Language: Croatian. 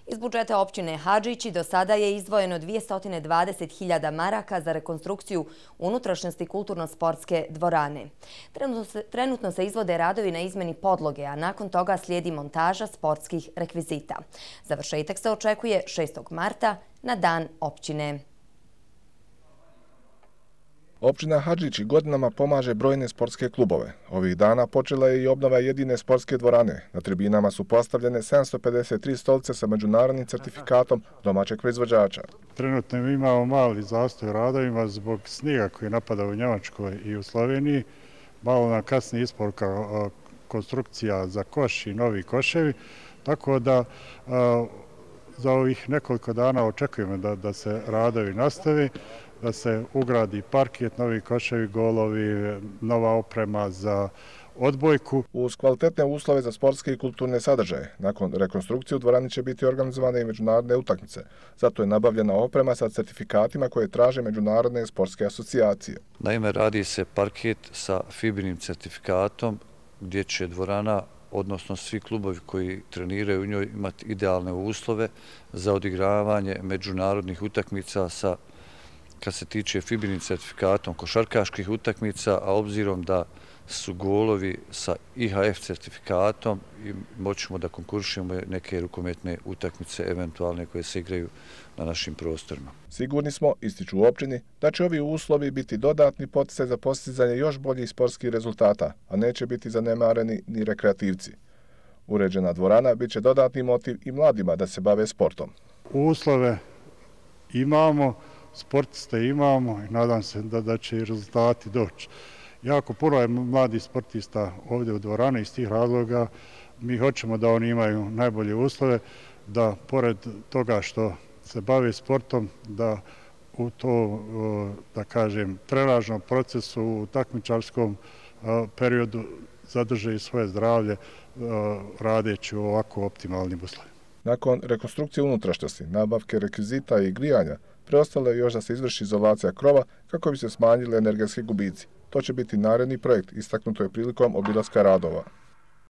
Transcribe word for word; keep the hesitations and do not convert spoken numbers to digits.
Iz budžeta općine Hadžići do sada je izdvojeno dvjesto dvadeset hiljada maraka za rekonstrukciju unutrašnjosti kulturno-sportske dvorane. Trenutno se, trenutno se izvode radovi na izmeni podloge, a nakon toga slijedi montaža sportskih rekvizita. Završetak se očekuje šestog marta na dan općine. Općina Hadžići godinama pomaže brojne sportske klubove. Ovih dana počela je i obnova jedine sportske dvorane. Na tribinama su postavljene sedamsto pedeset tri stolice sa međunarodnim certifikatom domaćeg proizvođača. Trenutno imamo mali zastoj radovima zbog snijega koji napada u Njemačkoj i u Sloveniji. Malo nam kasni isporuka konstrukcija za koš i novi koševi, tako da za ovih nekoliko dana očekujemo da, da se radovi nastavi, da se ugradi parket, novi koševi, golovi, nova oprema za odbojku. Uz kvalitetne uslove za sportske i kulturne sadržaje, nakon rekonstrukcije u dvorani će biti organizovane i međunarodne utakmice. Zato je nabavljena oprema sa certifikatima koje traže međunarodne sportske asocijacije. Naime, radi se parket sa fibinim certifikatom gdje će dvorana, odnosno svi klubovi koji treniraju u njoj, imati idealne uslove za odigravanje međunarodnih utakmica sa, kad se tiče fibinim certifikatom, košarkaških utakmica, a obzirom da su golovi sa I H F certifikatom i moćemo da konkuršimo neke rukometne utakmice eventualne koje se igraju na našim prostorima. Sigurni smo, ističu u općini, da će ovi uslovi biti dodatni poticaj za postizanje još boljih sportskih rezultata, a neće biti zanemareni ni rekreativci. Uređena dvorana bit će dodatni motiv i mladima da se bave sportom. Uslove imamo, sportiste imamo i nadam se da, da će i rezultati doći. Jako puno je mladih sportista ovdje u dvorani iz tih razloga. Mi hoćemo da oni imaju najbolje uslove, da pored toga što se bave sportom, da u to, da kažem, trenažnom procesu, u takmičarskom periodu zadrže i svoje zdravlje radeći u ovako optimalnim uslovima. Nakon rekonstrukcije unutrašnjosti, nabavke rekvizita i grijanja, preostalo je još da se izvrši izolacija krova kako bi se smanjili energetski gubici. To će biti naredni projekt, istaknuto je prilikom obilaska radova.